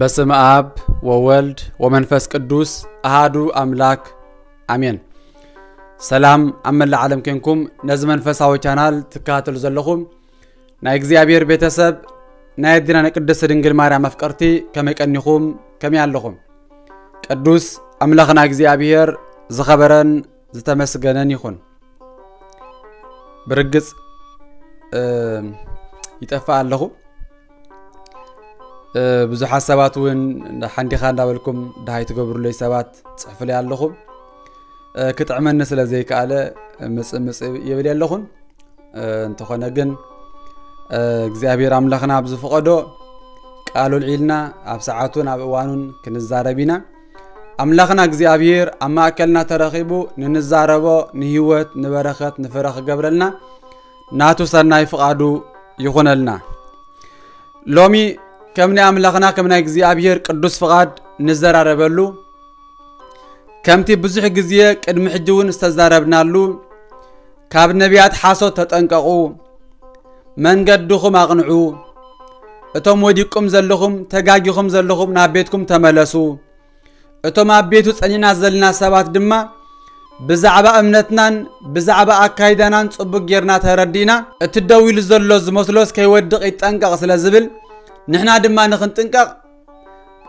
በስመ ኣብ ወወልድ ወመንፈስ ቅዱስ ኣሃዱ ኣምላክ ኣሜን። ሰላም ኣብ መላእ ዓለም ኬንኩም ነዚ መንፈሳዊ ቻናል ትከታተሉ ዘለኹም ናይ እግዚኣብሔር ቤተሰብ፣ ናይ ኣዴና ናይ ቅድስት ድንግል ማርያም ኣፍቀርቲ ከመይ ቀኒኹም? ከመይ ኣለኹም? ቅዱስ ኣምላኽና እግዚኣብሔር ዝኸበረን ዝተመስገነን ይኹን። ብርግጽ፣ እ፣ ይጠፍእ ኣለኹ። እ፣ ብዙሓት ሰባት እውን እንዳ ሓንዲኻ እንዳበልኩም ደሃይ ትገብሩለይ ሰባት ጽሕፉለይ ኣለኹም። እ፣ ክጥዕመኒ ስለ ዘይከኣለ ምጽእ ምጽእ ይብል የለኹን። እ፣ እንተኾነ ግን፣ እ፣ እግዚኣብሔር ኣምላኽና ኣብ ዝፈቐዶ ቃሉ ኣልዒልና ኣብ ሰዓቱን ኣብ እዋኑን ክንዛረብ ኢና። ኣምላኽና እግዚኣብሔር ኣብ ማእከልና ተረኺቡ ንንዛረቦ ንህይወት፣ ንበረኸት፣ ንፍረ ክገብረልና ናቱ ሰናይ ፍቓዱ ይኹነልና። ሎሚ ከም ናይ ኣምላኽና ከም ናይ እግዚኣብሔር ቅዱስ ፍቓድ ንዘራረበሉ፣ ከምቲ ብዙሕ ግዜ ቅድሚ ሕጂ እውን ዝተዛረብናሉ፣ ካብ ነቢያት ሓሶት ተጠንቀቑ፣ መንገድኹም ኣቕንዑ፣ እቶም ወዲቅኩም ዘለኹም፣ ተጋጊኹም ዘለኹም ናብ ቤትኩም ተመለሱ፣ እቶም ኣብ ቤቱ ጸኒዕና ዘለና ሰባት ድማ ብዛዕባ እምነትናን ብዛዕባ ኣካይዳናን ጽቡቕ ጌርና ተረዲእና፣ እቲ ደው ኢሉ ዘሎ ዝመስሎስ ከይወድቕ ይጠንቀቕ ስለ ዝብል፣ ንሕና ድማ ንኽንጥንቀቕ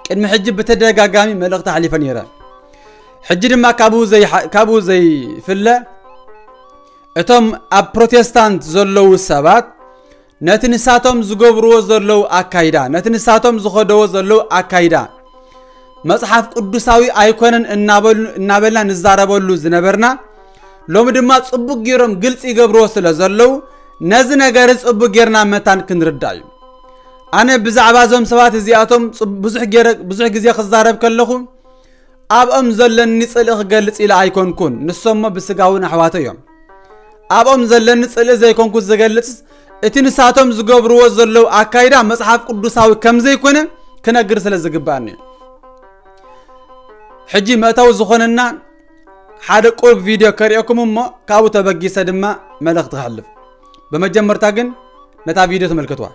ቅድሚ ሕጂ ብተደጋጋሚ መልእኽቲ ኣሕሊፈ ነይረ። ሕጂ ድማ ካብኡ ዘይሓ-፣ ካብኡ ዘይፍለ፣ እቶም ኣብ ፕሮቴስታንት ዘለዉ ሰባት ነቲ ንሳቶም ዝገብርዎ ዘለዉ ኣካይዳ፣ ነቲ ንሳቶም ዝኸደዎ ዘለዉ ኣካይዳ መጽሓፍ ቅዱሳዊ ኣይኮነን እናበሉ-፣ እናበልና ንዛረበሉ ዝነበርና፣ ሎሚ ድማ ጽቡቕ ገይሮም ግልጺ ይገብርዎ ስለ ዘለዉ፣ ነዚ ነገር ጽቡቕ ጌርና መታን ክንርዳእ እዩ። ኣነ ብዛዕባ እዞም ሰባት እዚኣቶም ጽብ-፣ ብዙሕ ገይረ-፣ ብዙሕ ግዜ ክዛረብ ከለኹ፣ ኣብኦም ዘለኒ ጽልኢ ክገልጽ ኢለ ኣይኮንኩን፣ ንሶም እሞ ብስጋ እውን ኣሕዋተይ እዮም። ኣብኦም ዘለኒ ጽልኢ ዘይኮንኩ ዝገልጽ፣ እቲ ንሳቶም ዝገብርዎ ዘለዉ ኣካይዳ መጽሓፍ ቅዱሳዊ ከም ዘይኮነ ክነግር ስለ ዝግባእኒ እዩ። ሕጂ መእተዊ ዝኾነና ሓደ ቁሩብ ቪድዮ ከርእየኩም እሞ ካብኡ ተበጊሰ ድማ መልእኽቲ ከሕልፍ። ብመጀመርታ ግን ነታ ቪድዮ ተመልከትዋ።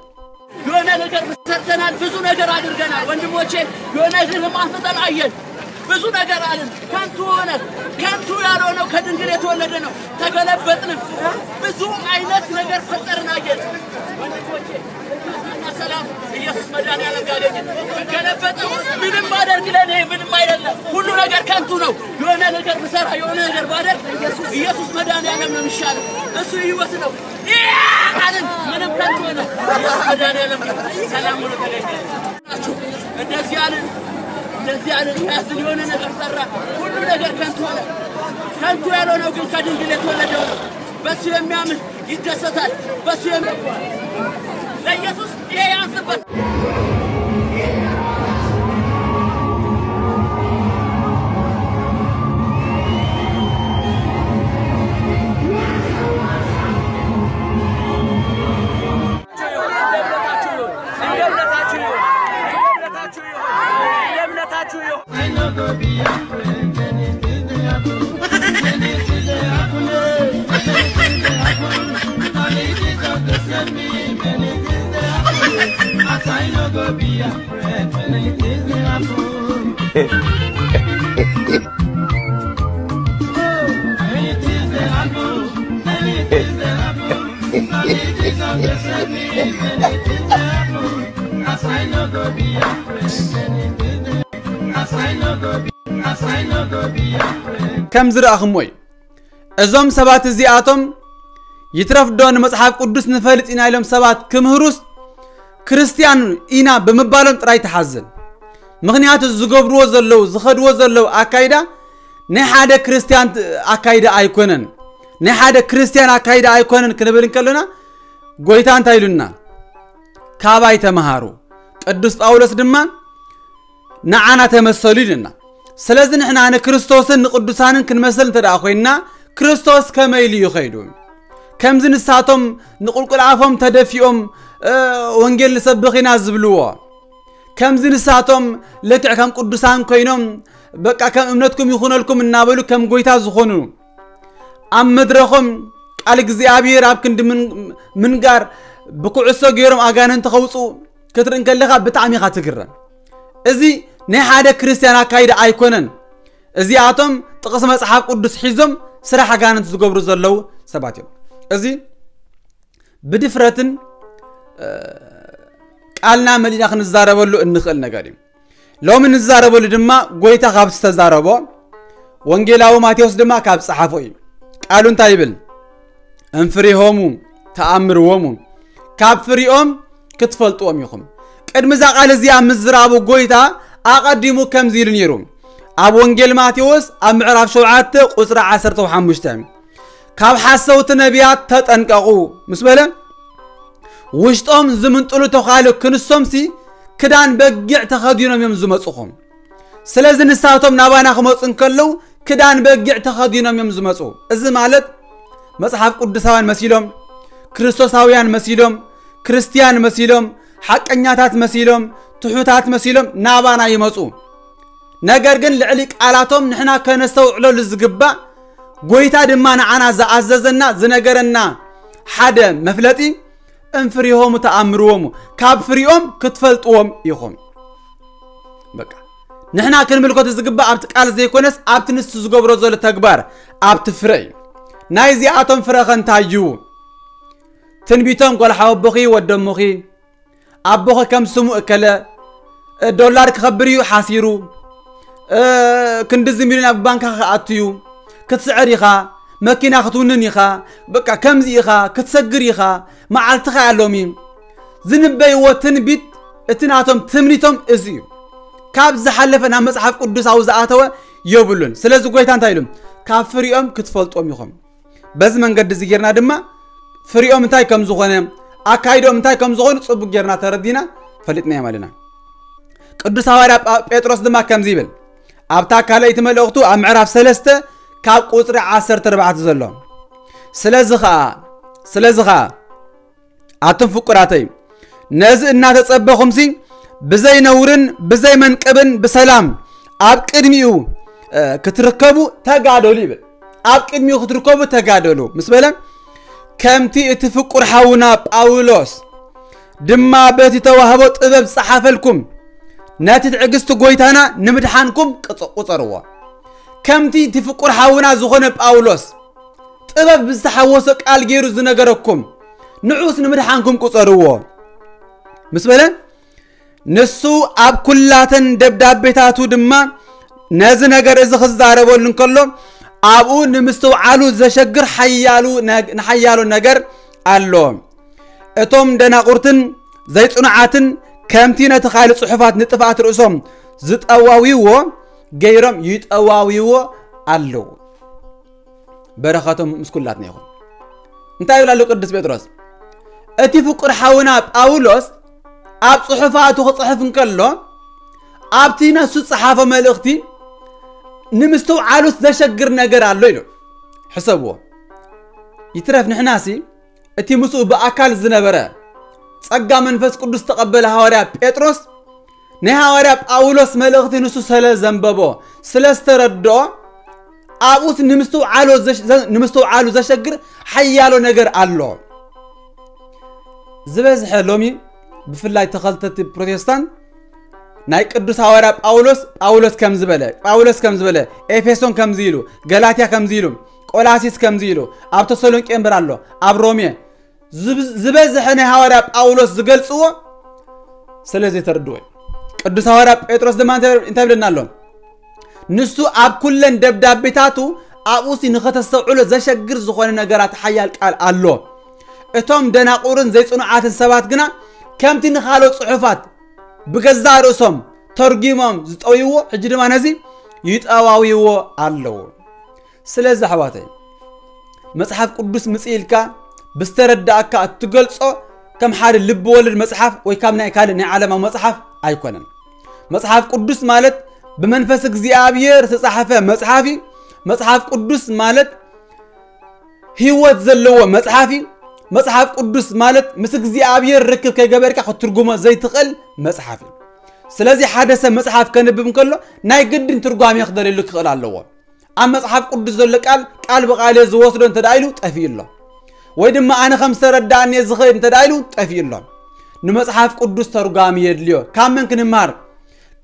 የሆነ ነገር ሰርተናል፣ ብዙ ነገር አድርገናል ወንድሞቼ። የሆነ ነገር አፍጥጠን አየን፣ ብዙ ነገር አልን። ከንቱ ሆነ። ከንቱ ያልሆነው ከድንግል የተወለደ ነው። ተገለበጥንም፣ ብዙ አይነት ነገር ፈጠርን አየን ወንድሞቼ። እና ሰላም ኢየሱስ መድኃኒዓለም ጋር አገኘን። ብገለበጠው ምንም ባደርግ ለኔ ምንም አይደለም። ሁሉ ነገር ከንቱ ነው። የሆነ ነገር ብሰራ፣ የሆነ ነገር ባደርግ ኢየሱስ መድኃኒዓለም ነው የሚሻለው። እሱ ህይወት ነው። ይህ አልን ምንም ከንቱ ሆነ። ኢየሱስ መድኃኒዓለም ነው። ሰላም ሆኖ ተገኘ። እንደዚህ አልን፣ እንደዚህ አልን፣ ያዝን የሆነ ነገር ሰራ። ሁሉ ነገር ከንቱ ሆነ። ከንቱ ያልሆነው ግን ከድንግል የተወለደው ነው። በሱ የሚያምን ይደሰታል። በሱ የሚ-፣ ለኢየሱስ ይሄ ያንስበት። ከም ዝረኣኹሞ እዩ። እዞም ሰባት እዚኣቶም ይትረፍዶ ንመጽሓፍ ቅዱስ ንፈልጥ ኢና ኢሎም ሰባት ክምህሩስ ክርስትያን ኢና ብምባሎም ጥራይ ትሓዝን። ምኽንያቱ ዝገብርዎ ዘለዉ፣ ዝኸድዎ ዘለዉ ኣካይዳ ናይ ሓደ ክርስትያን ት-፣ ኣካይዳ ኣይኮነን። ናይ ሓደ ክርስትያን ኣካይዳ ኣይኮነን ክንብል እንከለና ጎይታ እንታይ ኢሉና? ካባይ ተምሃሩ። ቅዱስ ጳውሎስ ድማ ንዓና ተመሰሉ ኢሉና። ስለዚ ንሕና ንክርስቶስን ንቅዱሳንን ክንመስል እንተ ደኣ ኮይንና፣ ክርስቶስ ከመይ ኢሉ እዩ ኸይዱ? ከምዚ ንሳቶም ንቁልቁል ኣፎም ተደፊኦም፣ እ፣ ወንጌል ንሰብኽ ኢና ዝብልዎ፣ ከምዚ ንሳቶም ልክዕ ከም ቅዱሳን ኮይኖም፣ በቃ ከም እምነትኩም ይኹነልኩም እናበሉ ከም ጎይታ ዝኾኑ፣ ኣብ መድረኾም ቃል እግዚኣብሔር ኣብ ክንዲ ምን- ምንጋር፣ ብኩዕሶ ገይሮም ኣጋንንቲ ከውፅኡ ክትርኢ እንከለኻ ብጣዕሚ ኢኻ ትግረም። እዚ ናይ ሓደ ክርስቲያን ኣካይዳ ኣይኮነን። እዚኣቶም ጥቕሲ መጽሓፍ ቅዱስ ሒዞም ስራሕ ኣጋንንቲ ዝገብሩ ዘለዉ ሰባት እዮም። እዚ ብድፍረትን ቃልና መሊእና ክንዛረበሉ እንኽእል ነገር እዩ። ሎሚ ንዛረበሉ ድማ ጎይታ ካብ ዝተዛረቦ፣ ወንጌላዊ ማቴዎስ ድማ ካብ ጸሓፎ እዩ። ቃሉ እንታይ ይብል? እንፍሪሆሙ ተኣምርዎሙ፣ ካብ ፍሪኦም ክትፈልጥዎም ኢኹም። ቅድሚ እዛ ቃል እዚኣ ምዝራቡ ጎይታ ኣቐዲሙ ከምዚ ኢሉ ነይሩ። ኣብ ወንጌል ማቴዎስ ኣብ ምዕራፍ ሸውዓተ ቁጽሪ ዓሰርተ ሓሙሽተ፣ ካብ ሓሰውቲ ነቢያት ተጠንቀቑ ምስ በለ፣ ውሽጦም ዝምንጥሉ ተዃሉ ክንሶምሲ ክዳን በጊዕ ተኸዲኖም እዮም ዝመጹኹም። ስለዚ ንሳቶም ናባና ክመጹ እንከለዉ ክዳን በጊዕ ተኸዲኖም እዮም ዝመጹ። እዚ ማለት መጽሓፍ ቅዱሳውያን መሲሎም፣ ክርስቶሳውያን መሲሎም፣ ክርስትያን መሲሎም፣ ሓቀኛታት መሲሎም፣ ትሑታት መሲሎም ናባና ይመጹ። ነገር ግን ልዕሊ ቃላቶም ንሕና ከነስተውዕለሉ ዝግባእ፣ ጎይታ ድማ ንዓና ዝኣዘዘና ዝነገረና ሓደ መፍለጢ፣ እንፍሪሆሙ ተኣምርዎሙ፣ ካብ ፍሪኦም ክትፈልጥዎም ኢኹም። በቃ ንሕና ክንምልከቶ ዝግባእ ኣብቲ ቃል ዘይኮነስ ኣብቲ ንሱ ዝገብሮ ዘሎ ተግባር፣ ኣብቲ ፍረ እዩ። ናይዚኣቶም ፍረ ከ እንታይ እዩ? ትንቢቶም ጓል ሓወቦኺ ወደሞኺ ኣቦኸ ከም ስሙ እከለ ዶላር ክኸብር እዩ ሓሲሩ፣ ክንድዚ ሚሊዮን ኣብ ባንካ ክኣቱ እዩ፣ ክትስዕር ኢኻ፣ መኪና ክትውንን ኢኻ፣ በቃ ከምዚ ኢኻ ክትሰግር ኢኻ፣ መዓልትኻ እያ ሎሚ። ዝንበይዎ ትንቢት፣ እቲ ናቶም ትምኒቶም እዚ እዩ። ካብ ዝሓለፈ ናብ መጽሓፍ ቅዱሳዊ ዝኣተወ የብሉን። ስለዚ ጎይታ እንታይ ኢሉ? ካብ ፍሪኦም ክትፈልጦም ኢኹም። በዚ መንገዲ እዚ ጌርና ድማ ፍሪኦም እንታይ ከም ዝኾነ፣ ኣካይዶም እንታይ ከም ዝኾኑ ጽቡቅ ጌርና ተረዲና ፈሊጥናዮም ኣለና። ቅዱስ ሃዋርያ ጳ- ጴጥሮስ ድማ ከምዚ ይብል ኣብታ ካልኣይቲ መልእኽቱ ኣብ ምዕራፍ ሰለስተ ካብ ቁጽሪ ዓሰርተ ኣርባዕተ ዘሎ፣ ስለዚ ኸኣ ስለዚ ኸኣ ኣቱም ፍቁራተይ፣ ነዚ እናተጸበኹምሲ ብዘይ ነውርን ብዘይ መንቀብን ብሰላም ኣብ ቅድሚኡ ክትርከቡ ተጋደሉ ይብል። ኣብ ቅድሚኡ ክትርከቡ ተጋደሉ ምስ በለ፣ ከምቲ እቲ ፍቁር ሓውና ጳውሎስ ድማ በቲ ተዋህቦ ጥበብ ዝጸሓፈልኩም፣ ነቲ ትዕግስቲ ጎይታና ንምድሓንኩም ቅጽ- ቁጸርዎ። ከምቲ እቲ ፍቁር ሓውና ዝኾነ ጳውሎስ ጥበብ ብዝተሓወሶ ቃል ገይሩ ዝነገረኩም፣ ንዑስ ንምድሓንኩም ቁጸርዎ ምስ በለ፣ ንሱ ኣብ ኩላተን ደብዳቤታቱ ድማ ነዚ ነገር እዚ ክዛረበሉ እንከሎ፣ ኣብኡ ንምስትውዓሉ ዘሸግር ሓያሉ ነግ- ንሓያሎ ነገር ኣሎ። እቶም ደናቁርትን ዘይጽኑዓትን ከምቲ ነቲ ካልእ ጽሑፋት ንጥፍኣት ርእሶም ዝጠዋውይዎ ገይሮም ይጠዋውይዎ ኣለዉ። በረኸቶም ምስ ኩላትና ይኹን። እንታይ ይብል ኣሎ ቅዱስ ጴጥሮስ? እቲ ፍቁር ሓውና ጳውሎስ ኣብ ጽሑፋቱ ክጽሕፍ እንከሎ፣ ኣብቲ ነሱ ዝጸሓፎ መልእኽቲ ንምስትውዓሉስ ዘሸግር ነገር ኣሎ ኢሉ። ሕሰብዎ። ይትረፍ ንሕናሲ እቲ ምስኡ ብኣካል ዝነበረ ጸጋ መንፈስ ቅዱስ ዝተቐበለ ሃዋርያ ጴጥሮስ ናይ ሃዋርያ ጳውሎስ መልእኽቲ ንሱ ስለ ዘንበቦ፣ ስለ ዝተረድኦ፣ ኣብኡስ ንምስትውዓሉ ዘሽ- ዘ- ንምስትውዓሉ ዘሸግር ሓያሎ ነገር ኣሎ። ዝበዝሐ ሎሚ ብፍላይ ተኸተልቲ ፕሮቴስታንት ናይ ቅዱስ ሃዋርያ ጳውሎስ ጳውሎስ ከም ዝበለ ጳውሎስ ከም ዝበለ ኤፌሶን ከምዚ ኢሉ፣ ገላትያ ከምዚ ኢሉ፣ ቆላሲስ ከምዚ ኢሉ፣ ኣብ ተሰሎንቄ እምበር ኣሎ፣ ኣብ ሮሜ ዝብ- ዝበዝሐ ናይ ሃዋርያ ጳውሎስ ዝገልጽዎ ስለ ዘይተረድዎ እዩ። ቅዱስ ሃዋርያ ጴጥሮስ ድማ እንታይ እንታይ ብለና ኣሎ? ንሱ ኣብ ኩለን ደብዳቤታቱ ኣብኡሲ ንኸተስተውዕሎ ዘሸግር ዝኾነ ነገራት ሓያል ቃል ኣሎ። እቶም ደናቁርን ዘይጽኑዓትን ሰባት ግና ከምቲ ንኻልኦ ጽሑፋት ብገዛእ ርእሶም ተርጒሞም ዝጠውይዎ፣ ሕጂ ድማ ነዚ ይጠዋውይዎ ኣለዉ። ስለዚ ኣሕዋተይ፣ መጽሓፍ ቅዱስ ምጽእ ኢልካ ብዝተረዳእካ እትገልጾ ከም ሓደ ልቢ ወለድ መጽሓፍ ወይ ካብ ናይ ካልእ ናይ ዓለማዊ መጽሓፍ ኣይኮነን። መጽሓፍ ቅዱስ ማለት ብመንፈስ እግዚኣብሔር ዝተጻሕፈ መጽሓፍ እዩ። መጽሓፍ ቅዱስ ማለት ህይወት ዘለዎ መጽሓፍ እዩ። መጽሓፍ ቅዱስ ማለት ምስ እግዚኣብሔር ርክብ ከይገበርካ ክትትርጉሞ ዘይትኽእል መጽሓፍ እዩ። ስለዚ ሓደ ሰብ መጽሓፍ ከንብብ እንከሎ ናይ ግድን ትርጓሜ ክደልየሉ ክኽእል ኣለዎ። ኣብ መጽሓፍ ቅዱስ ዘሎ ቃል ቃል ብቃል ዝወስዶ እንተ ኢሉ ጠፊኡ ኣሎ። ወይ ድማ ኣነ ከም ዝተረዳእኒ ዝኸይድ እንተ ኢሉ ጠፊኡ ኣሎ። ንመጽሓፍ ቅዱስ ተርጓሚ የድልዮ። ካብ መን ክንምሃር?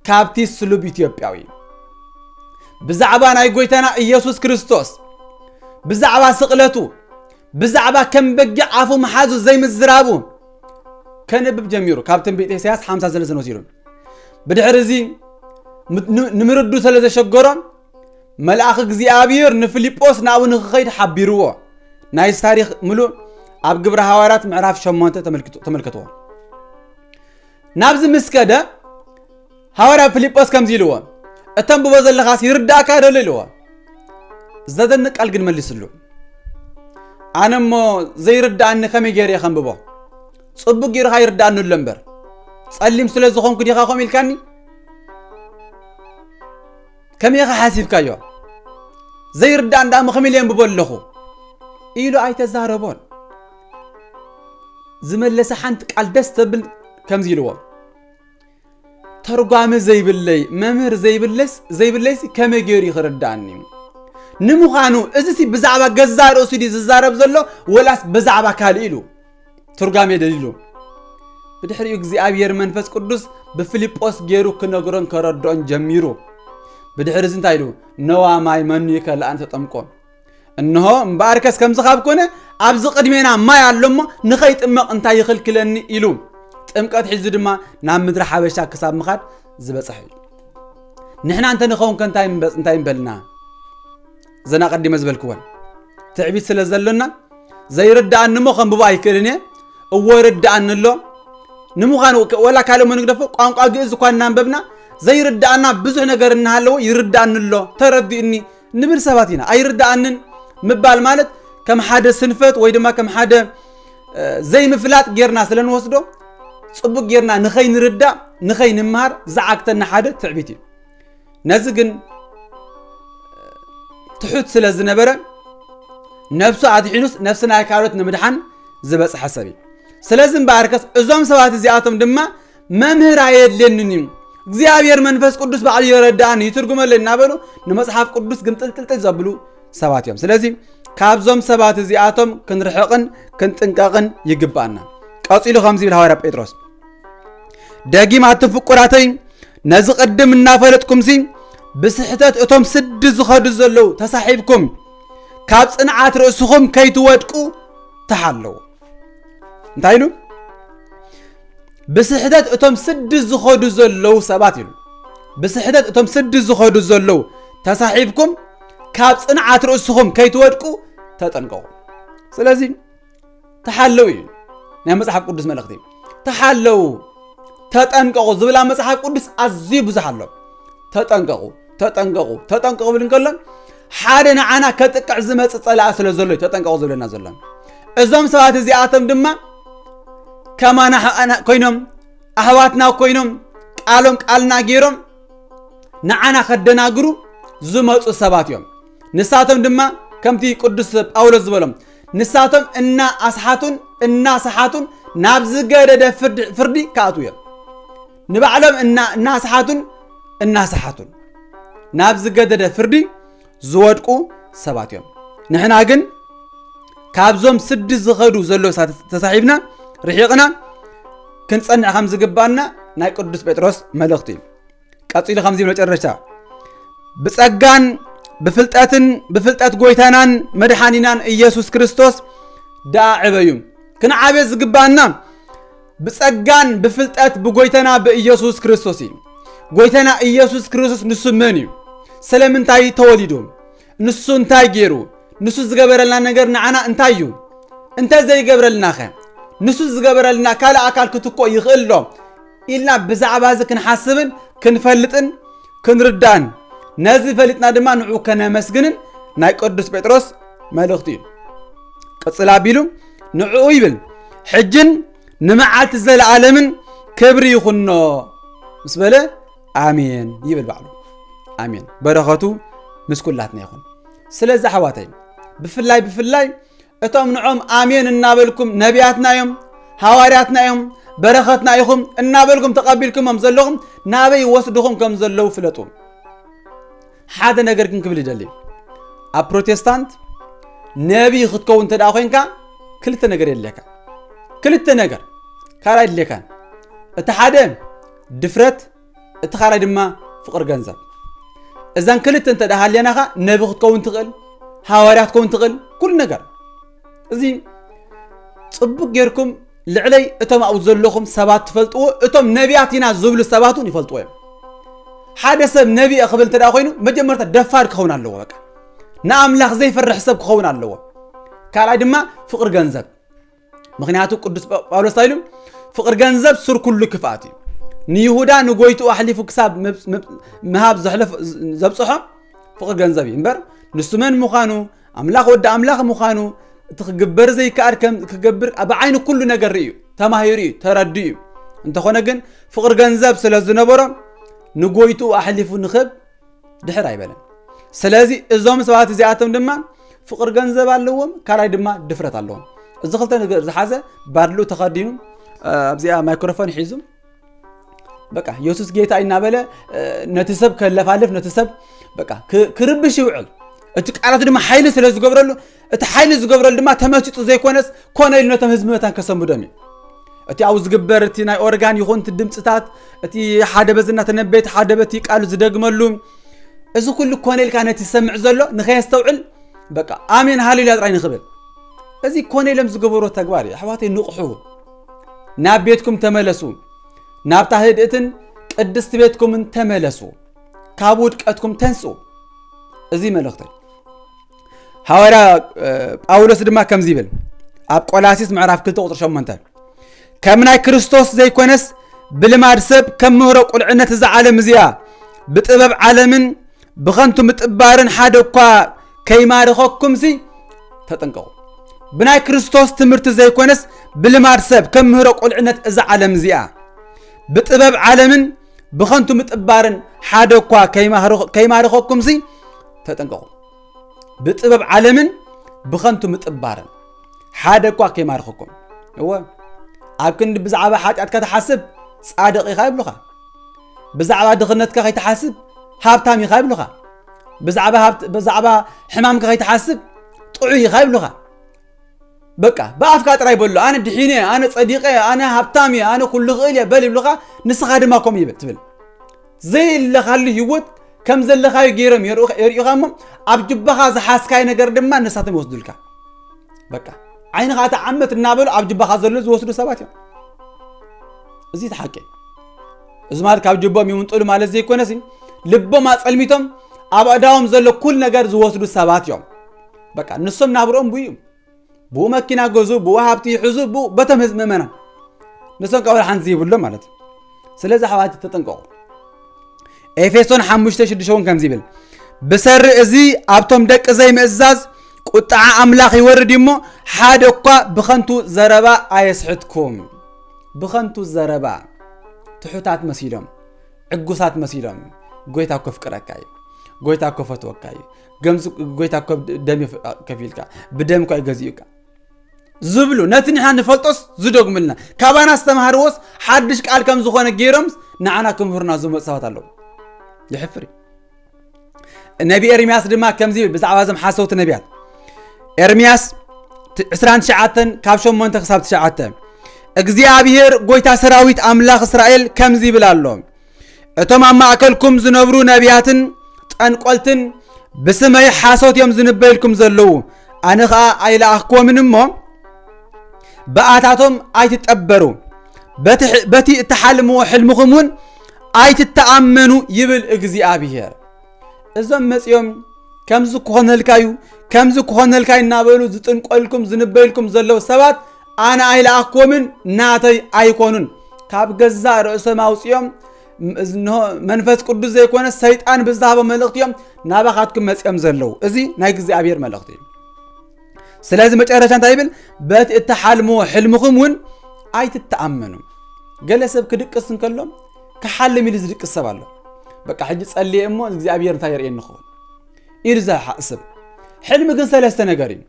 ካብቲ ስሉብ ኢትዮጵያዊ። ብዛዕባ ናይ ጎይታና ኢየሱስ ክርስቶስ፣ ብዛዕባ ስቕለቱ፣ ብዛዕባ ከም በጊዕ ኣፉ መሓዙ ዘይምዝራቡ ከንብብ ጀሚሩ። ካብ ትንቢት ኢሳያስ ሓምሳ ሰለስተ ወሲዱ። ብድሕሪ እዚ ም-፣ ን-፣ ንምርዱ ስለ ዘሸገሮ መልኣኽ እግዚኣብሔር ንፊልጶስ ናብኡ ንክኸይድ ሓቢርዎ። ናይዚ ታሪኽ ምሉእ ኣብ ግብረ ሃዋርያት ምዕራፍ ሸሞንተ ተመልክቱ-፣ ተመልከትዎ። ናብዚ ምስ ከደ ሃዋርያ ፊልጶስ ከምዚ ኢልዎ፣ "እተንብቦ ዘለኻስ ይርዳእካ ዶ?" ኢልዎ። ዘደንቅ ቃል ግን መሊስሉ። "ኣነ እሞ ዘይርዳእኒ ከመይ ገይረ እየ ከንብቦ? ጽቡቅ ገይርካ ይርዳእኒ ኣሎ እምበር፣ ጸሊም ስለ ዝኾንኩ ዲኻ ከምኡ ኢልካኒ? ከመይ ኢኻ ሓሲብካዮ? ዘይርዳእኒ ደኣ እሞ ከመይ ኢለ የንብቦ ኣለኹ?" ኢሉ ኣይተዛረቦን። ዝመለሰ ሓንቲ ቃል ደስ ተብል ከምዚ ኢልዎ፣ "ተርጓሚ ዘይብለይ፣ መምህር ዘይብለስ-፣ ዘይብለይስ ከመይ ገይሩ ይኽርዳእኒ?" ንምዃኑ እዚሲ ብዛዕባ ገዛእ ርእሱ ድዩ ዝዛረብ ዘሎ ወላስ ብዛዕባ ካልእ ኢሉ? ትርጓሜ ደሊሉ። ብድሕሪኡ እግዚኣብሔር መንፈስ ቅዱስ ብፊልጶስ ገይሩ ክነግሮን ከረድኦን ጀሚሩ። ብድሕሪ እዚ እንታይ ኢሉ? "ነዋ ማይ መኑ ይከልኣን ተጠምቆ?" እንሆ እምበኣርከስ ከምዚ ካብ ኮነ ኣብዚ ቅድሜና ማይ ኣሎ እሞ ንኸይጥመቕ እንታይ ይኽልክለኒ? ኢሉ ጥምቀት ሒዙ ድማ ናብ ምድሪ ሓበሻ ክሳብ ምኻድ ዝበጽሐ እዩ። ንሕና እንተ ንኸውን ከ እንታይ ምበ-፣ እንታይ ምበልና? ዘና ቀዲመ ዝበልክወን ትዕቢት ስለ ዘሎና ዘይርዳእኒ እሞ ከንብቦ ኣይክእልን እየ። እዎ ይርዳእኒ ኣሎ። ንምዃኑ ከ-፣ ወላ ካልእ እሞ ንግደፎ፣ ቋንቋ ግእዝ እኳ እናንበብና ዘይርዳእና ብዙሕ ነገር እናሃለዎ ይርዳእኒ ኣሎ፣ ተረዲእኒ ንብል ሰባት ኢና። ኣይርዳእንን ምባል ማለት ከም ሓደ ስንፈት ወይ ድማ ከም ሓደ፣ እ፣ ዘይምፍላጥ ጌርና ስለ ንወስዶ፣ ጽቡቅ ጌርና ንኸይንርዳእ፣ ንኸይንምሃር ዝዓግተና ሓደ ትዕቢት እዩ። ነዚ ግን ትሑት ስለ ዝነበረ፣ ነብሱ ኣድሒኑስ ነፍሲ ናይ ካልኦት ንምድሓን ዝበጽሐ ሰብ እዩ። ስለዚ እምበኣርከስ እዞም ሰባት እዚኣቶም ድማ መምህር ኣየድልየንን እዩ፣ እግዚኣብሔር መንፈስ ቅዱስ ባዕሉ የረድኣኒ፣ ይትርጉመለይ እናበሉ ንመጽሓፍ ቅዱስ ግምጥልጥልጥል ዘብሉ ሰባት እዮም። ስለዚ ካብዞም ሰባት እዚኣቶም ክንርሕቕን ክንጥንቀቕን ይግባኣና። ቀጺሉ ከምዚ ይብል ሃዋርያ ጴጥሮስ፣ "ደጊም ኣቲ ፍቁራተይ፣ ነዚ ቅድም እናፈለጥኩምሲ ብስሕተት እቶም ስዲ ዝኸዱ ዘለዉ ተሳሒብኩም፣ ካብ ጽንዓት ርእስኹም ከይትወድቁ ተሓለዉ።" እንታይ ኢሉ? "ብስሕተት እቶም ስዲ ዝኸዱ ዘለዉ ሰባት" ኢሉ። "ብስሕተት እቶም ስዲ ዝኸዱ ዘለዉ ተሳሒብኩም፣ ካብ ጽንዓት ርእስኹም ከይትወድቁ ተጠንቀቑ።" ስለዚ ተሓለዉ እዩ ናይ መጽሓፍ ቅዱስ መልእኽቲ። ተሓለዉ፣ ተጠንቀቑ ዝብል ኣብ መጽሓፍ ቅዱስ ኣዝዩ ብዙሕ ኣሎ። ተጠንቀቑ፣ ተጠንቀቑ፣ ተጠንቀቑ ብል እንከሎ፣ ሓደ ንዓና ከጥቅዕ ዝመጽእ ጸላኢ ስለ ዘሎ እዩ ተጠንቀቑ ዝብለና ዘሎ። እዞም ሰባት እዚኣቶም ድማ ከማና ኣሕዋትና ኮይኖም፣ ኣሕዋትና ኮይኖም፣ ቃሎም ቃልና ገይሮም ንዓና ከደናግሩ ዝመጹ ሰባት እዮም። ንሳቶም ድማ ከምቲ ቅዱስ ጳውሎስ ዝበሎም፣ ንሳቶም እናኣስሓቱን እናሰሓቱን ናብ ዝገደደ ፍርዲ፣ ፍርዲ ክኣትዉ እዮም። ንባዕሎም እና-፣ እናሰሓቱን እናሰሓቱን ናብ ዝገደደ ፍርዲ ዝወድቁ ሰባት እዮም። ንሕና ግን ካብዞም ስዲ ዝኸዱ ዘለዉ ሰባት ተሳሒብና ርሒቕና ክንጸንዕ ከም ዝግባና ናይ ቅዱስ ጴጥሮስ መልእኽቲ እዩ። ቀጺሉ ከምዚ ይብል መጨረሻ፣ "ብጸጋን ብፍልጠትን ብፍልጠት ጎይታናን መድሓኒናን ኢየሱስ ክርስቶስ ደኣ ዕበዩ።" ክንዓበ ዝግባና ብጸጋን ብፍልጠት ብጎይታና ብኢየሱስ ክርስቶስ እዩ። ጎይታና ኢየሱስ ክርስቶስ ንሱ መን እዩ? ስለምንታይ ተወሊዱ? ንሱ እንታይ ገይሩ? ንሱ ዝገበረልና ነገር ንዓና እንታይ እዩ? እንተ ዘይገብረልናኸ? ንሱ ዝገበረልና ካልእ ኣካል ክትኮ ይኽእል ዶ? ኢልና ብዛዕባ እዚ ክንሓስብን ክንፈልጥን ክንርዳእን፣ ነዚ ፈሊጥና ድማ ንዑ ከነመስግንን ናይ ቅዱስ ጴጥሮስ መልእኽቲ እዩ። ቅጽል ኣቢሉ ንዕኡ ይብል፣ "ሕጅን ንመዓልቲ ዘለዓለምን ክብሪ ይኹኖ" ምስ በለ፣ "ኣሜን" ይብል ባዕሉ። ኣሜን። በረኸቱ ምስ ኩላትና ይኹን። ስለዚ ኣሕዋተይ፣ ብፍላይ፣ ብፍላይ እቶም ንዖም ኣሜን እናበልኩም፣ "ነቢያትና እዮም፣ ሃዋርያትና እዮም፣ በረኸትና ኢኹም" እናበልኩም ተቐቢልኩሞም ዘለኹም፣ ናበይ ይወስድኹም ከም ዘለዉ ፍለጡ። ሓደ ነገር ግን ክብል ይደሊ። ኣብ ፕሮቴስታንት ነቢ ክትከውን እንተ ደኣ ኮይንካ ክልተ ነገር የድልየካ። ክልተ ነገር ካልእ ኣይድልየካን። እቲ ሓደ ድፍረት፣ እቲ ካልኣይ ድማ ፍቕሪ ገንዘብ። እዘን ክልተ እንተ ደኣ ሃልየናኻ ነቢ ክትከውን ትኽእል፣ ሃዋርያ ክትከውን ትኽእል፣ ኩሉ ነገር። እዚ ጽቡቅ ጌርኩም ልዕለይ እቶም ኣብኡ ዘለኹም ሰባት ትፈልጥዎ፣ እቶም ነቢያት ኢና ዝብሉ ሰባት እውን ይፈልጥዎ እዮም። ሓደ ሰብ ነቢ እየ ክብል እንተ ደኣ ኮይኑ መጀመርታ ደፋር ክኸውን ኣለዎ። በቃ ንኣምላኽ ዘይፈርሕ ሰብ ክኸውን ኣለዎ። ካልኣይ ድማ ፍቕሪ ገንዘብ። ምኽንያቱ ቅዱስ ጳ- ጳውሎስ እንታይ ኢሉ? ፍቕሪ ገንዘብ ሱር ኩሉ ክፍኣት እዩ። ንይሁዳ ንጎይትኡ ኣሕሊፉ ክሳብ ምብ- ምብ- ምሃብ ዘሕለፍ ዘብጽሖ ፍቕሪ ገንዘብ እዩ እምበር ንሱ መን ምዃኑ ኣምላኽ ወዲ ኣምላኽ ምዃኑ እቲ ክግበር ዘይከኣል ከም ክገብር ብዓይኒ ኩሉ ነገር ርእዩ ተማሂሩ እዩ ተረዱ እዩ። እንተኾነ ግን ፍቕሪ ገንዘብ ስለ ዝነበሮ ንጎይትኡ ኣሕሊፉ ንኽህብ ድሕር ኣይበለን። ስለዚ እዞም ሰባት እዚኣቶም ድማ ፍቕሪ ገንዘብ ኣለዎም፣ ካልኣይ ድማ ድፍረት ኣለዎም። እዚ ክልተ ነገር ዝሓዘ ባድሉ ተኸዲኑ ኣብዚኣ ማይክሮፎን ሒዙ በቃ የሱስ ጌታ እናበለ ነቲ ሰብ ከለፋልፍ ነቲ ሰብ በቃ ክርብሽ ይውዕል። እቲ ቃላት ድማ ሓይሊ ስለ ዝገብረሉ እቲ ሓይሊ ዝገብረሉ ድማ ተመሲጡ ዘይኮነስ ኮነ ኢሉ ነቶም ህዝቢ መታን ከሰንብዶም እዩ። እቲ ኣብኡ ዝግበር እቲ ናይ ኦርጋን ይኹን እቲ ድምፅታት እቲ ሓደ በዚ እናተነበየ እቲ ሓደ በቲ ቃሉ ዝደግመሉ እዚ ኩሉ ኮነ ኢልካ ነቲ ዝሰምዕ ዘሎ ንኸየስተውዕል በቃ ኣሜን ሃሌሉያ ጥራይ ንኽብል እዚ ኮነ ኢሎም ዝገበሮ ተግባር እዩ። ኣሕዋተይ ንቕሑ፣ ናብ ቤትኩም ተመለሱ፣ ናብታ ህድእትን ቅድስቲ ቤትኩምን ተመለሱ፣ ካብ ውድቀትኩም ተንስኡ። እዚ መልእኽተይ። ሃዋርያ ጳውሎስ ድማ ከምዚ ይብል ኣብ ቆላሲስ ምዕራፍ ክልተ ቁፅሪ ሸሞንተ ከም ናይ ክርስቶስ ዘይኮነስ ብልማድ ሰብ ከም ምህሮ ቁልዕነት እዛ ዓለም እዚኣ ብጥበብ ዓለምን ብኸንቱ ምጥባርን ሓደ እኳ ከይማርኸኩምሲ ተጠንቀቑ። ብናይ ክርስቶስ ትምህርቲ ዘይኮነስ ብልማድ ሰብ ከም ምህሮ ቁልዕነት እዛ ዓለም እዚኣ ብጥበብ ዓለምን ብኸንቱ ምጥባርን ሓደ እኳ ከይማርኸኩምሲ ተጠንቀቑ። ብጥበብ ዓለምን ብኸንቱ ምጥባርን ሓደ እኳ ከይማርኸኩም። እወ ኣብ ክንዲ ብዛዕባ ሓጢኣትካ ትሓስብ ጻድቕ ኢኻ ይብሉኻ። ብዛዕባ ድኽነትካ ከይትሓስብ ሃብታም ኢኻ ይብሉኻ። ብዛዕባ ሕማምካ ከይትሓስብ ጥዑይ ኢኻ ይብሉኻ። በቃ ብኣፍካ ጥራይ በሎ ኣነ ድሒነ ኣነ ጸዲቐ ኣነ ሃብታም እየ ኣነ ኩሉ ኽእል እየ በል ይብሉኻ። ንስኻ ድማ ከምኡ ይብል ትብል። ዘይለኻሉ ህይወት ከም ዘለኻዮ ገይሮም የርእኻ እሞ ኣብ ጅባኻ ዝሓዝካዮ ነገር ድማ ንሳቶም ይወስዱልካ። በቃ ዓይንኻ ተዓመት እናበሉ ኣብ ጅባኻ ዘሎ ዝወስዱ ሰባት እዮም። እዚ ተሓቂ። እዚ ማለት ካብ ጅቦም ይምንጥሉ ማለት ዘይኮነሲ ልቦም ኣጸልሚቶም ኣብ ኣእዳዎም ዘሎ ኩል ነገር ዝወስዱ ሰባት እዮም። በቃ ንሶም ናብሮም ብኡ እዩ። ብኡ መኪና ገዙ፣ ብኡ ሃብቲ ይሕዙ፣ ብኡ በቶም ህዝቢ ምእመናን ንሶም ካብ ሓንቲ ዘይብሎም ማለት እዩ። ስለዚ ኣሕዋት ተጠንቀቑ። ኤፌሶን ሓሙሽተ ሽዱሽተ እውን ከምዚ ይብል ብሰሪ እዚ ኣብቶም ደቂ ዘይምእዛዝ ቁጥዓ ኣምላኽ ይወርድ እዩ እሞ ሓደ እኳ ብኸንቱ ዘረባ ኣየስሕትኩም። ብኸንቱ ዘረባ ትሑታት መሲሎም ዕጉሳት መሲሎም ጎይታ እኮ ፍቅረካ እዩ፣ ጎይታ እኮ ፈትወካ እዩ፣ ገምዚ ጎይታ እኮ ደም ከፊልካ ብደም እኮ ይገዚኡካ ዝብሉ ነቲ ንሕና ንፈልጦስ ዝደግሙልና ካባና ዝተማሃርዎስ ሓድሽ ቃል ከም ዝኾነ ገይሮምስ ንዓና ክምህሩና ዝመፁ ሰባት ኣለዉ። የሕፍር እዩ። ነቢ ኤርምያስ ድማ ከምዚ ይብል ብዛዕባ እዞም ሓሰውቲ ነቢያት ኤርምያስ ዕስራን ትሽዓተን ካብ ሸሞንተ ክሳብ ትሽዓተ እግዚኣብሔር ጎይታ ሰራዊት ኣምላኽ እስራኤል ከምዚ ይብል ኣሎ እቶም ኣብ ማእከልኩም ዝነብሩ ነቢያትን ጠንቆልትን ብስመይ ሓሶት እዮም ዝንበይልኩም ዘለዉ ኣነ ኸኣ ኣይለኣኽክዎምን እሞ ብኣታቶም ኣይትጠበሩ በቲ እትሓልምዎ ሕልምኹም እውን ኣይትተኣመኑ ይብል እግዚኣብሔር። እዞም መጺኦም ከምዚ ክኾነልካ እዩ ከምዚ ክኾነልካ እዩ እናበሉ ዝጥንቆልኩም ዝንበይልኩም ዘለዉ ሰባት ኣነ ኣይለኣኽክዎምን ናተይ ኣይኮኑን ካብ ገዛእ ርእሶም ኣውጺኦም መንፈስ ቅዱስ ዘይኮነ ሰይጣን ብዝሃቦ መልእኽቲ እዮም ናባኻትኩም መጺኦም ዘለዉ። እዚ ናይ እግዚኣብሔር መልእኽቲ እዩ። ስለዚ መጨረሻ እንታይ ይብል? በቲ እትሓልምዎ ሕልምኹም እውን ኣይትተኣመኑ። ገለ ሰብ ክድቅስ እንከሎ ክሓልም ኢሉ ዝድቅስ ሰብ ኣሎ። በቃ ሕጂ ጸልየ እሞ እግዚኣብሔር እንታይ የርእየኒ ክኸውን ኢሉ ዝሓስብ። ሕልሚ ግን ሰለስተ ነገር እዩ።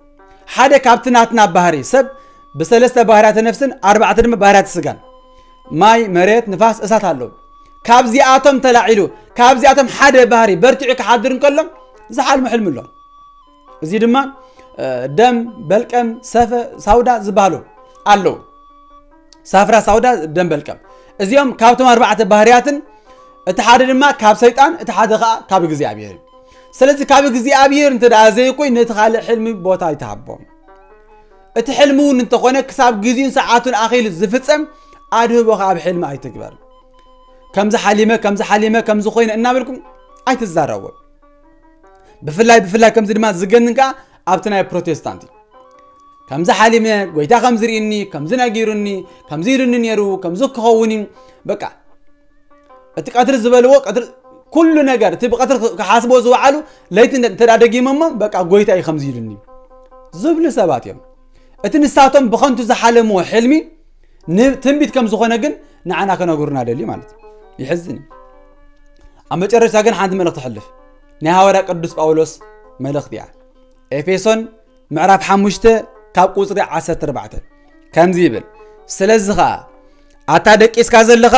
ሓደ ካብቲ ናትና ባህሪ ሰብ ብሰለስተ ባህርያተ ነፍስን ኣርባዕተ ድማ ባህርያተ ስጋን ማይ፣ መሬት፣ ንፋስ፣ እሳት ኣለዉ። ካብዚኣቶም ተላዒሉ ካብዚኣቶም ሓደ ባህሪ በርቲዑ ክሓድር እንከሎ ዝሓልሞ ሕልሚ ኣሎ። እዚ ድማ ደም በልቀም፣ ሰፈ ሳውዳ ዝበሃሉ ኣለዉ። ሳፍራ ሳውዳ፣ ደም በልቀም፣ እዚኦም ካብቶም ኣርባዕተ ባህርያትን፣ እቲ ሓደ ድማ ካብ ሰይጣን፣ እቲ ሓደ ከዓ ካብ እግዚኣብሔር እዩ። ስለዚ ካብ እግዚኣብሔር እንተ ደኣ ዘይኮይ ነቲ ካልእ ሕልሚ ቦታ ኣይትሃቦም። እቲ ሕልሚ እውን እንተኾነ ክሳብ ግዜን ሰዓቱን ኣኺሉ ዝፍጸም ኣድህቦ ካብ ሕልሚ ኣይትግበር። ከምዚ ሓሊመ ከምዚ ሓሊመ ከምዚ ኮይነ እናበልኩም ኣይትዛረቡ። ብፍላይ ብፍላይ ከምዚ ድማ ዝገንን ከዓ ኣብቲ ናይ ፕሮቴስታንት እዩ። ከምዚ ሓሊመ፣ ጎይታ ከምዚ ርኢኒ፣ ከምዚ ነጊሩኒ፣ ከምዚ ኢሉኒ ነይሩ፣ ከምዚ ክኸውን እዩ። በቃ እቲ ቀትሪ ዝበልዎ፣ ቀትሪ ኩሉ ነገር እቲ ብቀትሪ ክሓስቦ ዝወዓሉ ለይቲ እንተ ደጊሞሞ፣ በቃ ጎይታ እዩ ከምዚ ኢሉኒ ዝብሉ ሰባት እዮም። እቲ ንሳቶም ብኸንቱ ዝሓለምዎ ሕልሚ ትንቢት ከም ዝኾነ ግን ንዓና ከነግሩና ደልዩ ማለት እዩ። ይሕዝን እዩ። ኣብ መጨረሻ ግን ሓንቲ መልእኽቲ ሕልፍ፣ ናይ ሃዋርያ ቅዱስ ጳውሎስ መልእኽቲ እያ። ኤፌሶን ምዕራፍ ሓሙሽተ ካብ ቁፅሪ ዓሰርተ ኣርባዕተ ከምዚ ይብል፣ ስለዚ ኸዓ ኣታ ደቂስካ ዘለኻ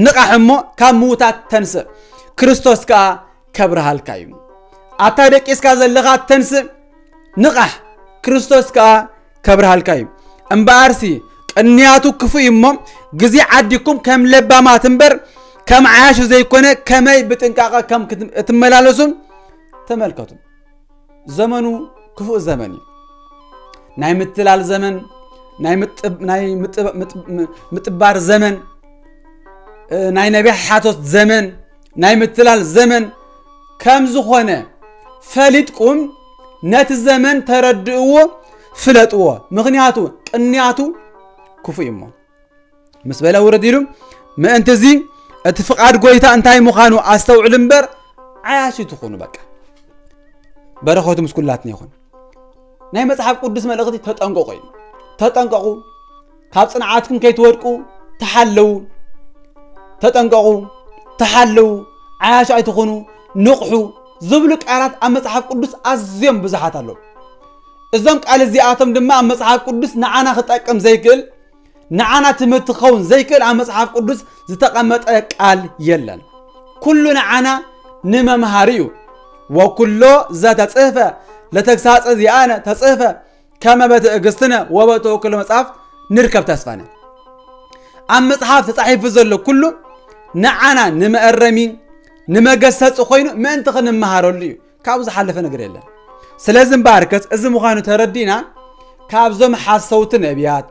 ንቓሕ እሞ ካብ ምዉታት ተንስእ፣ ክርስቶስ ከኣ ከብርሃልካ እዩ። ኣታ ደቂስካ ዘለኻ ተንስእ፣ ንቓሕ፣ ክርስቶስ ከኣ ከብርሃልካ እዩ። እምበኣርሲ ቅንያቱ ክፉእ እዩ እሞ ግዜ ዓዲኩም ከም ለባማት እምበር ከም ዓያሹ ዘይኮነ ከመይ ብጥንቃቐ ከም እትመላለሱ ተመልከቱ። ዘመኑ ክፉእ ዘመን እዩ። ናይ ምትላል ዘመን፣ ናይ ምጥባር ዘመን፣ ናይ ነቢሕ ሓሶት ዘመን፣ ናይ ምትላል ዘመን ከም ዝኾነ ፈሊጥኩም ነቲ ዘመን ተረድእዎ፣ ፍለጥዎ። ምኽንያቱ ቅንያቱ ክፉእ እዩ እሞ። ምስ በለ ውርድ ኢሉ፣ ምእንቲ እዚ እቲ ፍቓድ ጎይታ እንታይ ምዃኑ ኣስተውዕሉ እምበር ዓያሺ ትኹኑ። በቃ በረኸቱ ምስ ኩላትና ይኹን። ናይ መጽሓፍ ቅዱስ መልእኽቲ ተጠንቀቑ እዩ። ተጠንቀቑ፣ ካብ ጽንዓትኩም ከይትወድቁ ተሓለዉ። ተጠንቀቑ፣ ተሓለዉ፣ ዓያሹ ኣይትኹኑ፣ ንቕሑ ዝብሉ ቃላት ኣብ መጽሓፍ ቅዱስ ኣዝዮም ብዙሓት ኣለዉ። እዞም ቃል እዚኣቶም ድማ ኣብ መጽሓፍ ቅዱስ ንዓና ክጠቅም ዘይክእል፣ ንዓና ትምህርቲ ክኸውን ዘይክእል ኣብ መጽሓፍ ቅዱስ ዝተቐመጠ ቃል የለን። ኩሉ ንዓና ንመምሃሪ እዩ። ወኩሎ ዘተጽሕፈ ለተግሳጸ ዚኣነ ተጽሕፈ ከመ በትዕግስትነ ወበተወክሎ መጽሐፍ ንርከብ ተስፋነ። ኣብ መጽሓፍ ተጻሒፉ ዘሎ ኩሉ ንዓና ንመእረሚ፣ ንመገሰጺ ኮይኑ ምእንቲ ክንመሃረሉ እዩ። ካብኡ ዝሓለፈ ነገር የለን። ስለዚ እምበኣርከስ እዚ ምዃኑ ተረዲእና ካብዞም ሓሰውቲ ነቢያት፣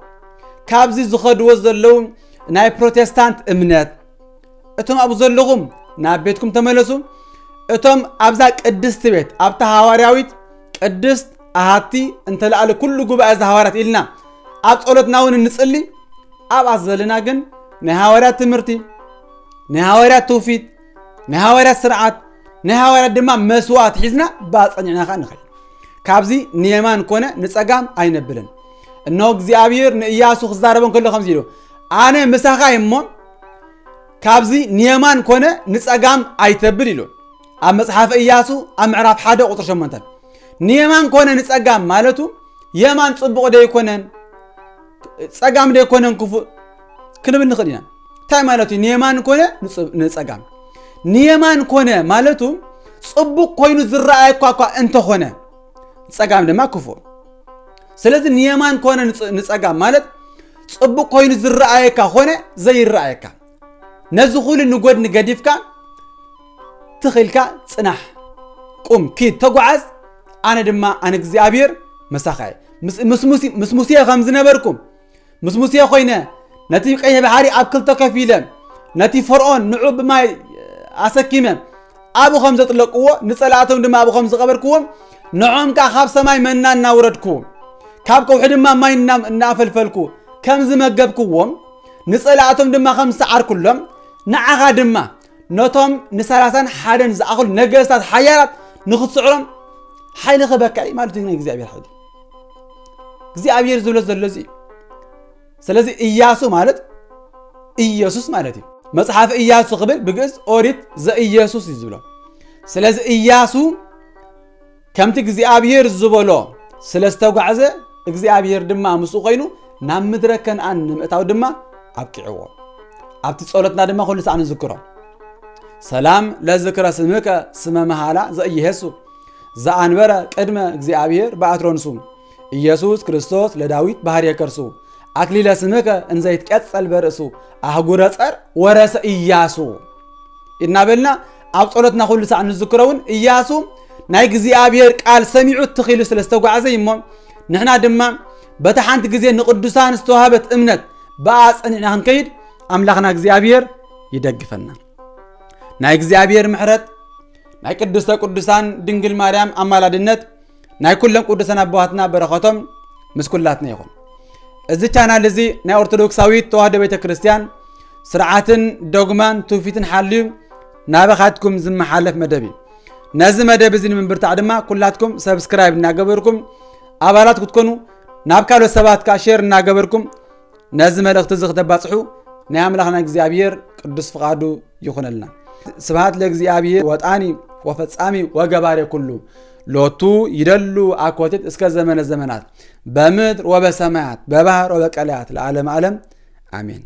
ካብዚ ዝኸድዎ ዘለዉ ናይ ፕሮቴስታንት እምነት፣ እቶም ኣብኡ ዘለኹም ናብ ቤትኩም ተመለሱ። እቶም ኣብዛ ቅድስቲ ቤት፣ ኣብታ ሃዋርያዊት ቅድስት ኣሃቲ እንተለኣለ ኩሉ ጉባኤ እዚ ሃዋርያት ኢልና ኣብ ጸሎትና እውን እንጽሊ፣ ኣብኣ ዘለና ግን ናይ ሃዋርያት ትምህርቲ፣ ናይ ሃዋርያት ትውፊት፣ ናይ ሃዋርያት ስርዓት፣ ናይ ሃዋርያት ድማ መስዋዕት ሒዝና ባጸኒዕና ኸዓ ንኸይድ። ካብዚ ንየማን ኮነ ንጸጋም ኣይነብልን። እነሆ እግዚኣብሔር ንእያሱ ክዛረቦ እንከሎ ከምዚ ኢሉ፣ ኣነ ምሳኻ እየ እሞ ካብዚ ንየማን ኮነ ንጸጋም ኣይተብል ኢሉ። ኣብ መጽሓፈ እያሱ ኣብ ምዕራፍ ሓደ ቁጽሪ ሸሞንተ። ንየማን ኮነ ንጸጋም ማለቱ የማን ጽቡቕ ደይኮነን፣ ጸጋም ደይኮነን ክፉእ ክንብል ንኽእል ኢና። እንታይ ማለት እዩ? ንየማን ኮነ ንጽ-፣ ንጸጋም። ንየማን ኮነ ማለቱ ጽቡቕ ኮይኑ ዝረኣየኳ እኳ እንተኾነ፣ ጸጋም ድማ ክፉእ። ስለዚ ንየማን ኮነ ንጽ-፣ ንጸጋም ማለት ጽቡቕ ኮይኑ ዝረኣየካ ኾነ ዘይረኣየካ፣ ነዚ ኹሉ ንጎድኒ ገዲፍካ ትኺልካ ጽናሕ፣ ቁም፣ ኪድ፣ ተጓዓዝ። ኣነ ድማ ኣነ እግዚኣብሔር ምሳኻ እየ። ምስ፣ ምስ ሙሴ፣ ምስ ሙሴ ከም ዝነበርኩ ምስ ሙሴ ኮይነ ነቲ ቀይሕ ባሕሪ ኣብ ክልተ ከፊለ ነቲ ፈርዖን ንዑ ብማይ ኣሰኪመ ኣብኡ ከም ዘጥለቅዎ ንጸላእቶም ድማ ኣብኡ ከም ዝቐበርክዎም ንዖም ከኣ ካብ ሰማይ መና እናውረድኩ ካብ ከውሒ ድማ ማይ እና-፣ እናፈልፈልኩ ከም ዝመገብክዎም ንጸላእቶም ድማ ከም ዝሰዓርኩሎም ንዓኻ ድማ ነቶም ንሰላሳን ሓደን ዝኣኽሉ ነገስታት ሓያላት ንኽትስዕሮም ሓይሊ ክህበካ እዩ ማለት እዩ። ናይ እግዚኣብሔር ሓይሊ እግዚኣብሔር ዝብሎ ዘሎ እዚ እዩ። ስለዚ እያሱ ማለት ኢየሱስ ማለት እዩ። መጽሓፍ እያሱ ክብል ብግእዝ ኦሪት ዘኢየሱስ እዩ ዝብሎ። ስለዚ እያሱ ከምቲ እግዚኣብሔር ዝበሎ ስለ ዝተጓዕዘ እግዚኣብሔር ድማ ምስኡ ኮይኑ ናብ ምድረ ከነኣን ንምእታው ድማ ኣብቂዕዎ። ኣብቲ ጸሎትና ድማ ኩሉ ሰዓት ንዝክሮ። ሰላም ለዝክረ ስምከ ስመ መሃላ ዘኢየሱ ዘኣንበረ ቅድመ እግዚኣብሔር በአትሮንሱ ኢየሱስ ክርስቶስ ለዳዊት ባህርየ ከርሱ ኣክሊለ ስምከ እንዘይትቀጸል በርእሱ ኣህጉረ ጸር ወረሰ ኢያሱ። እናበልና ኣብ ጸሎትና ኩሉ ሳዕ ንዝክሮ እውን ኢያሱ ናይ እግዚኣብሔር ቃል ሰሚዑ ትኺሉ ስለ ዝተጓዕዘ እዩ እሞ ንሕና ድማ በታ ሓንቲ ግዜ ንቅዱሳን ዝተዋህበት እምነት ብኣ ጸኒዕና ክንከይድ ኣምላኽና እግዚኣብሔር ይደግፈና። ናይ እግዚኣብሔር ምሕረት ናይ ቅድስተ ቅዱሳን ድንግል ማርያም ኣማላድነት ናይ ኩሎም ቅዱሳን ኣቦዋትና በረኸቶም ምስ ኩላትና ይኹን። እዚ ቻናል እዚ ናይ ኦርቶዶክሳዊት ተዋህዶ ቤተ ክርስቲያን ስርዓትን ዶግማን ትውፊትን ሓልዩ ናባኻትኩም ዝመሓለፍ መደብ እዩ። ነዚ መደብ እዚ ንምብርታዕ ድማ ኩላትኩም ሰብስክራይብ እናገበርኩም ኣባላት ክትኮኑ ናብ ካልኦት ሰባት ከዓ ሼር እናገበርኩም ነዚ መልእኽቲ እዚ ክተባፅሑ ናይ ኣምላኽና እግዚኣብሔር ቅዱስ ፍቓዱ ይኹነልና። ስብሐት ለእግዚኣብሔር ወጣኒ ወፈጻሚ ወገባሬ ኩሉ ሎቱ ይደሉ አኮቴት እስከ ዘመነ ዘመናት በምድር ወበሰማያት በባህር ወበቀላያት ለዓለመ ዓለም አሜን።